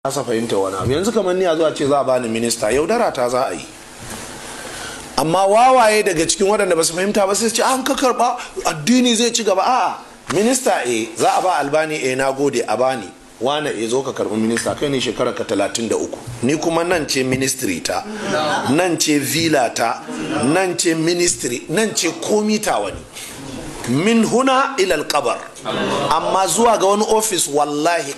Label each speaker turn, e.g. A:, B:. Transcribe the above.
A: Kasa fahimta wani abu. Yanzu kamar ni a zuwa ce za a bani minista, yaudara ta za a yi. Amma wawaye daga cikin waɗanda ba su fahimta ba sai su ce an ka karɓa addini zai ci gaba. A'a, minista e za a ba Albani, e na gode, a bani wane, e zo ka karɓi minista, kai ne shekara ka 33, ni kuma nan ce ministry ta, nan ce villa ta, nan ce ministry, nan ce komi ta wani min huna ilal kabar. Amma zuwa ga wani ofis, wallahi.